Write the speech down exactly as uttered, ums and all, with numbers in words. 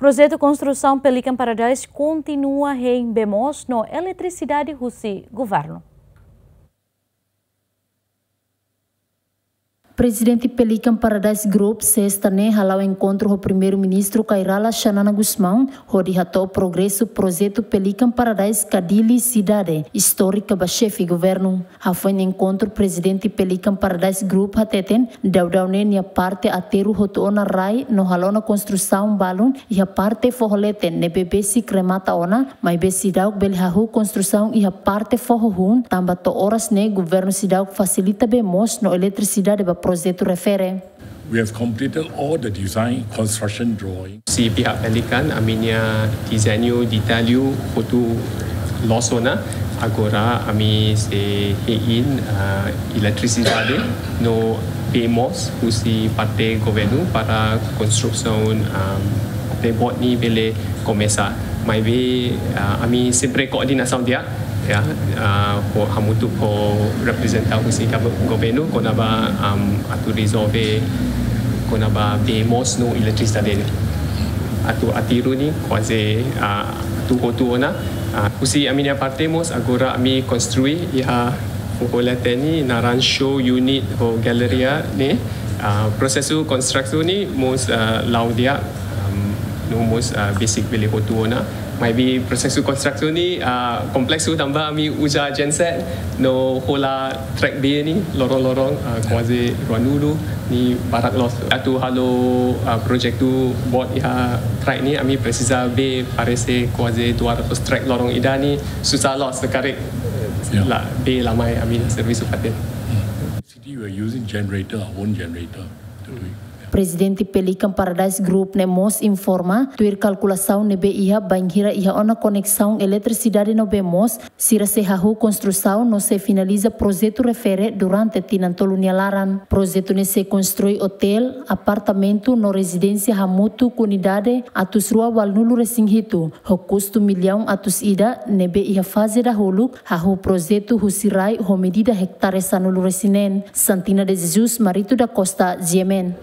Projetu konstrusaun Pelican Paradise kontinua hein bee moos no eletrisidade husi governu. Prezidente Pelican Paradise Group, sesta ne'e hala'o enkontru ho Primeiru-Ministru Kay Rala Xanana Gusmão, hodi hato'o progresu projetu Pelican Paradise ka Dili Sidade, istórika ba xefe governu. Hafoin enkontru, Prezidente Pelican Paradise Group hateten, daudaun ne'e nia parte aterru hotu ona rai no halo ona konstrusaun balun iha parte foho leten ne'ebé besik remata ona, maibé seidauk bele hahú konstrusaun iha parte foho hun, tanba to'o oras ne'e governu seidauk fasilita bee moos no eletrisidade ba projetu refere. We have completed all the design construction drawing. Husi pihak Pelican, ami-nia dezeñu detallu hotu loos ona, agora ami sei hein, ah, eletrisidade no bee moos husi parte governu para konstrusaun, ah, parte boot ne'e bele komesa. Maibé, ah, ami sempre koordenasaun di'ak, ya, ah, ho, hamutuk ho reprezentante husi governu kona-ba, am, atu rezolve kona-ba bee moos no eletrisidade. Atu aterru ne'e kuaze, ah, atu hotu ona. Ah, husi ami-nia parte mós agora ami konstrui iha foho leten ne'e naran show unit ho galeria ne'e. Ah, prosesu konstrusaun ne'e mós, ah, la'o di'ak, am, no mós, ah, besik bele hotu ona. Maibé prosesu konstrusaun ne'e, ah, kompleksu tanba ami uza genset no hola trek bee ne'e loron-loron, ah, kuaze ruanulu ne'e barak loos. Atu halo, ah, projetu boot iha trek ne'e ami presiza bee parese kuaze dua ratus trek loron ida ne'e susar loos karik. Ya. La, bee la mai ami servisu fatin. City, we are using generator, our own generator to do it. Prezidente Pelican Paradise Group ne'e mós informa, tuir kalkulasaun ne'ebé iha, bainhira iha ona koneksaun eletrisidade no bee moos, sira sei hahú konstrusaun no sei finaliza projetu refere durante tinan tolu nia laran. Projetu ne'e sei konstrui otél, apartamentu no rezidénsia hamutuk unidade atus rua ualunulu resin hitu, ho kustu millaun atus ida, ne'ebé iha faze dahuluk, hahú projetu husi rai ho medida ektare sanulu resin neen. Santina de Jesus, Marito da Costa, G M N.